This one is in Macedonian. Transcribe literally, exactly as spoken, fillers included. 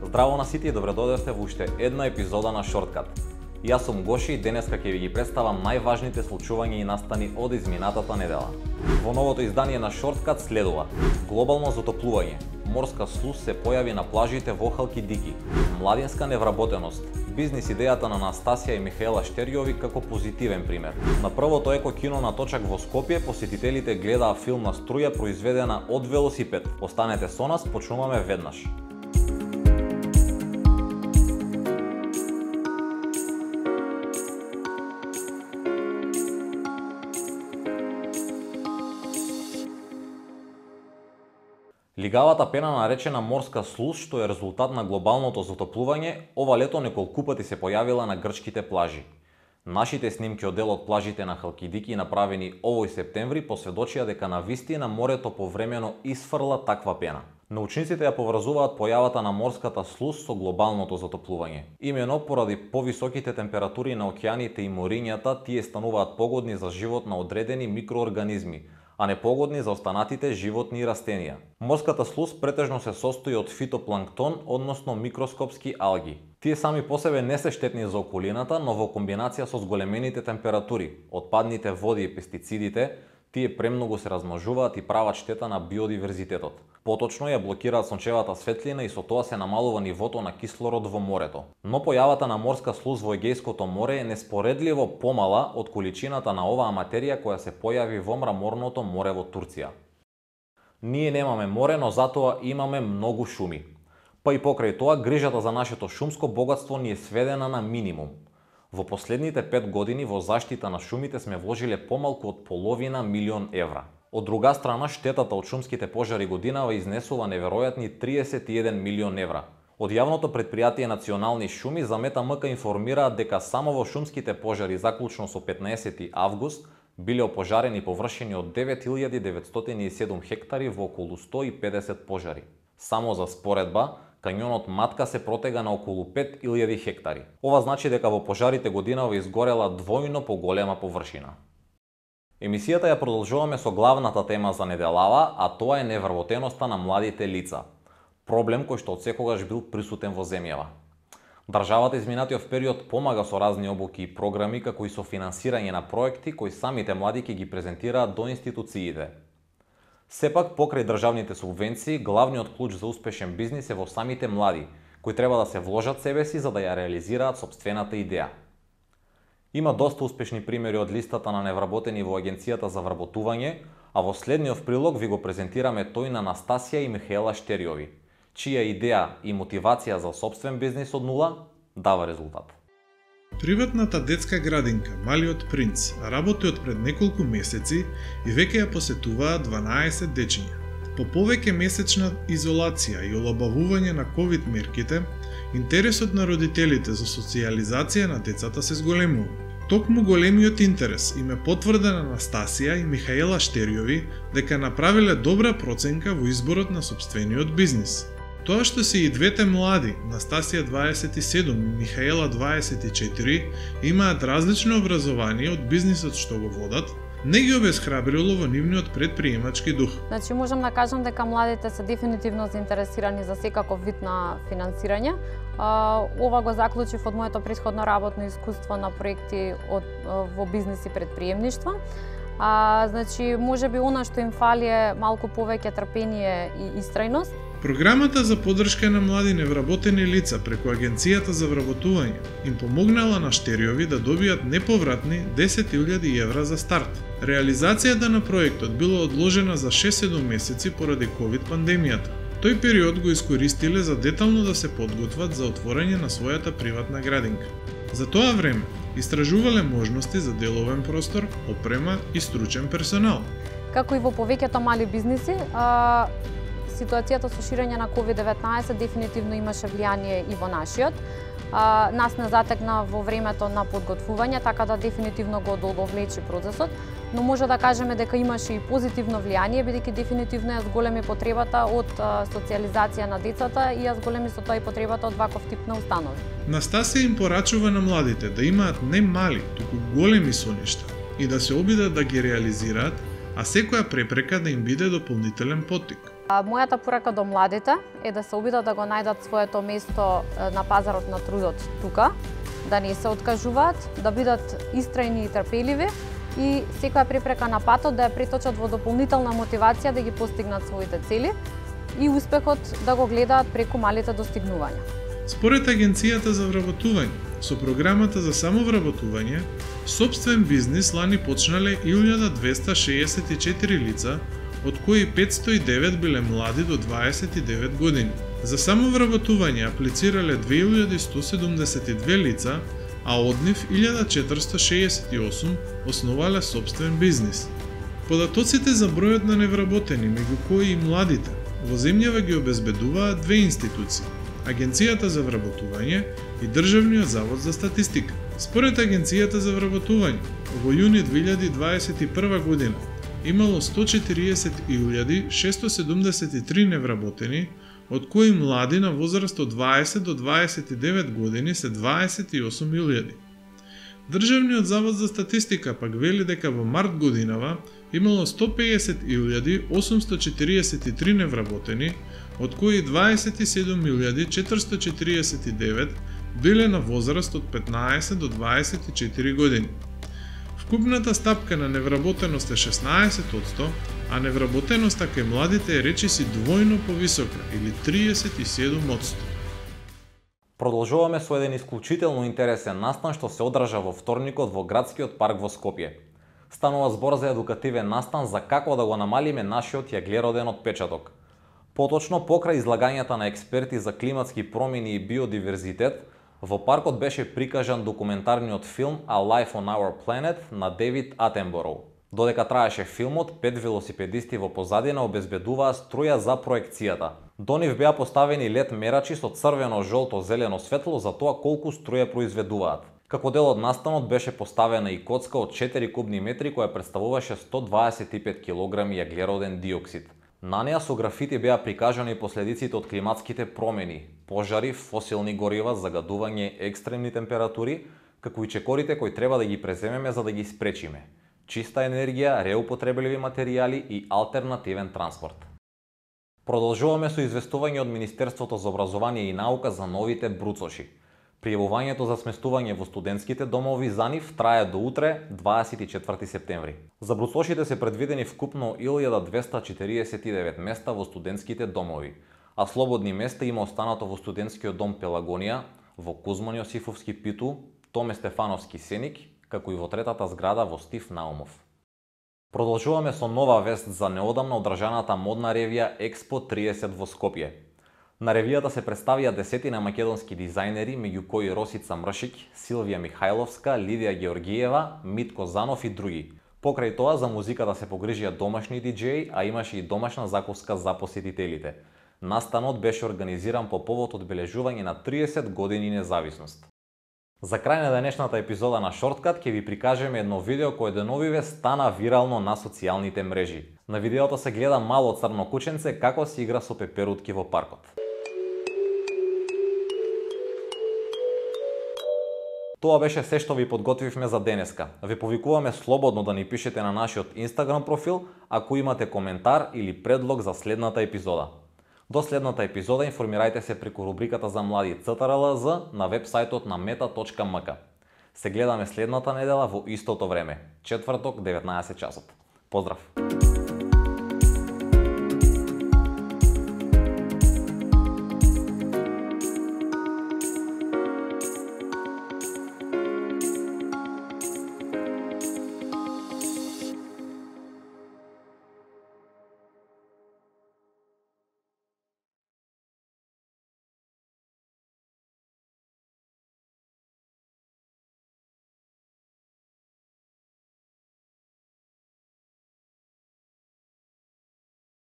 Здраво на сите и добредодевте во уште една епизода на Шорткат. Јас сум Гоши и денеска ќе ви ги представам најважните случувања и настани од изминатата недела. Во новото издание на Шорткат следува: глобално затоплување, морска слуз се појави на плажите во Халкидики, младинска невработеност, бизнис идејата на Настасија и Михаела Штерјови како позитивен пример. На првото еко кино на Точак во Скопје посетителите гледаа филм на струја произведена од велосипед. Останете со нас, почнуваме веднаш. Лигавата пена наречена морска слуз, што е резултат на глобалното затоплување, ова лето неколку пати се појавила на грчките плажи. Нашите снимки од дел од плажите на Халкидики, направени овој септември, посведочија дека навистина морето повремено isfрла таква пена. Научниците ја поврзуваат појавата на морската слуз со глобалното затоплување. Имено поради повисоките температури на океаните и морињата, тие стануваат погодни за живот на одредени микроорганизми, а не погодни за останатите животни и растенија. Морската слуз претежно се состои од фитопланктон, односно микроскопски алги. Тие сами по себе не се штетни за околината, но во комбинација со зголемените температури, отпадните води и пестицидите, тие премногу се размножуваат и прават штета на биодиверзитетот. Поточно ја блокираат сончевата светлина и со тоа се намалува нивото на кислород во морето. Но појавата на морска слуз во Егејското море е неспоредливо помала од количината на оваа материја која се појави во мраморното море во Турција. Ние немаме море, но затоа имаме многу шуми. Па и покрај тоа, грижата за нашето шумско богатство ни е сведена на минимум. Во последните пет години во заштита на шумите сме вложиле помалку од половина милион евра. Од друга страна, штетата од шумските пожари годинава изнесува неверојатни триесет и еден милион евра. Од јавното предпријатие Национални шуми за МТМК информираат дека само во шумските пожари заклучно со петнаесети август биле опожарени површини од девет илјади деветстотини и седум хектари во околу сто и педесет пожари. Само за споредба, кањонот Матка се протега на околу пет илјади хектари. Ова значи дека во пожарите годинава изгорела двојно поголема површина. Емисијата ја продолжуваме со главната тема за неделава, а тоа е невработеноста на младите лица. Проблем кој што од секогаш бил присутен во земјава. Државата изминатиот период помага со разни обуки и програми, како и со финансирање на проекти кои самите млади ќе ги презентираат до институциите. Сепак, покрај државните субвенции, главниот клуч за успешен бизнис е во самите млади, кои треба да се вложат себе си за да ја реализираат сопствената идеја. Има доста успешни примери од листата на невработени во Агенцијата за вработување, а во следниот прилог ви го презентираме тој на Настасија и Михаела Штерјови, чија идеја и мотивација за сопствен бизнис од нула дава резултат. Приватната детска градинка Малиот принц работи од пред неколку месеци и веќе ја посетуваат дванаесет дечиња. По повеќе месечна изолација и олабавување на ковид мерките, интересот на родителите за социјализација на децата се зголемува. Токму големиот интерес им е потврдена Настасија и Михаела Штерјови дека направиле добра проценка во изборот на сопствениот бизнис. Тоа што се и двете млади, Настасија дваесет и седум и Михаела дваесет и четири, имаат различно образование од бизнисот што го водат, не ги обесхрабрило во нивниот предприемачки дух. Значи можам да кажам дека младите се дефинитивно заинтересирани за секаков вид на финансирање. Ова го заклучив од моето претходно работно искуство на проекти од, во бизнис и предприемништво. А, значи, може би она што им фали е малку повеќе трпение и истрајност. Програмата за поддршка на млади невработени лица преку Агенцијата за вработување им помогнала на Штерјови да добијат неповратни десет илјади евра за старт. Реализацијата на проектот била одложена за шест-седум месеци поради ковид пандемијата. Тој период го искористиле за детално да се подготват за отворање на својата приватна градинка. За тоа време истражувале можности за деловен простор, опрема и стручен персонал. Како и во повеќето мали бизниси, а, ситуацијата со ширење на ковид деветнаесет дефинитивно имаше влијание и во нашиот. А, нас не затекна во времето на подготвување, така да дефинитивно го одолговлечи процесот, но може да кажеме дека имаше и позитивно влијание, бидејќи дефинитивно ја зголеми потребата од а, социјализација на децата и ја зголеми со тоа и потребата од ваков тип на установи. Настасија им порачува на младите да имаат не мали, туку големи соништа и да се обидат да ги реализираат, а секоја препрека да им биде дополнителен поттик. Мојата порака до младите е да се обидат да го најдат своето место на пазарот на трудот тука, да не се откажуваат, да бидат истрајни и трпеливи и секоја препрека на патот да ја преточат во дополнителна мотивација да ги постигнат своите цели и успехот да го гледаат преку малите достигнувања. Според Агенцијата за вработување, со програмата за самовработување, сопствен бизнис лани почнале илјада двеста шеесет и четири лица, од кои петсто и девет биле млади до дваесет и девет години. За самовработување аплицирале две илјади сто седумдесет и две лица, а од нив илјада четиристо шеесет и осум основале сопствен бизнис. Податоците за бројот на невработени, меѓу кои и младите, во земјава ги обезбедуваат две институции – Агенцијата за вработување и Државниот завод за статистика. Според Агенцијата за вработување, во јуни две илјади дваесет и прва година имало сто четириесет илјади шесто седумдесет и три невработени, од кои млади на возраст од дваесет до дваесет и девет години се дваесет и осум илјади. Државниот завод за статистика пак вели дека во март годинава имало сто пеесет илјади осумсто четириесет и три невработени, од кои дваесет и седум илјади четиристо четириесет и девет биле на возраст од петнаесет до дваесет и четири години. Вкупната стапка на невработеност е шеснаесет одсто, а невработеноста кај младите е речиси двојно повисока или триесет и седум одсто. Продолжуваме со еден исклучително интересен настан што се одржа во вторникот во градскиот парк во Скопје. Станува збор за едукативен настан за како да го намалиме нашиот јаглероден отпечаток. Поточно, покрај излагањата на експерти за климатски промени и биодиверзитет, во паркот беше прикажан документарниот филм A Life on Our Planet на Дейвид Атенбороу. Додека траеше филмот, пет велосипедисти во позадина обезбедуваа струја за проекцијата. До нив беа поставени лед мерачи со црвено, жолто, зелено светло за тоа колку струја произведуваат. Како дел од настанот беше поставена и коцка од четири кубни метри која представуваше сто дваесет и пет килограми јаглероден диоксид. На неа со графити беа прикажани последиците од климатските промени, пожари, фосилни горива, загадување, екстремни температури, како и чекорите кои треба да ги преземеме за да ги спречиме. Чиста енергија, реупотребливи материјали и алтернативен транспорт. Продолжуваме со известување од Министерството за образование и наука за новите бруцоши. Пријавувањето за сместување во студентските домови за нив трае до утре, дваесет и четврти септември. За бруцошите се предвидени вкупно илјада двеста четириесет и девет места во студентските домови, а слободни места има останато во студентскиот дом Пелагонија, во Кузман Јосифовски Питу, Томе Стефановски Сеник, како и во третата зграда во Стив Наумов. Продолжуваме со нова вест за неодамна одржаната модна ревија Експо триесет во Скопје. На ревијата се представија десетина македонски дизајнери, меѓу кои Росица Мршик, Силвија Михајловска, Лидија Георгиева, Митко Занов и други. Покрај тоа за музиката се погрижија домашни диџеи, а имаше и домашна закуска за посетителите. Настанот беше организиран по повод одбележување на триесет години независност. За крај на денешната епизода на Шорткат ќе ви прикажеме едно видео кое деновиве стана вирално на социјалните мрежи. На видеото се гледа мало црно кученце како се игра со пеперутки во паркот. Тоа беше се што ви подготвивме за денеска. Ви повикуваме слободно да ни пишете на нашиот Инстаграм профил ако имате коментар или предлог за следната епизода. До следната епизода информирајте се преку рубриката за млади Ц Т Р Л З на вебсајтот на мета точка ем ка. Се гледаме следната недела во истото време, четврток, деветнаесет часот. Поздрав!